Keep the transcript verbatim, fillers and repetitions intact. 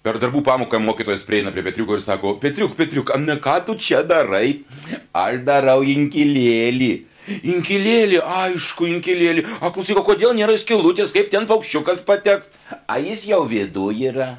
Per darbų pamoką mokytojas prieina prie Petriuko ir sako, Petriuk, Petriuk, na ką tu čia darai? Aš darau inkilėlį. Inkilėlį, aišku, inkilėlį. A, klausyk, o kodėl nėra skylutės, kaip ten paukščiukas pateks? A, jis jau viduj yra.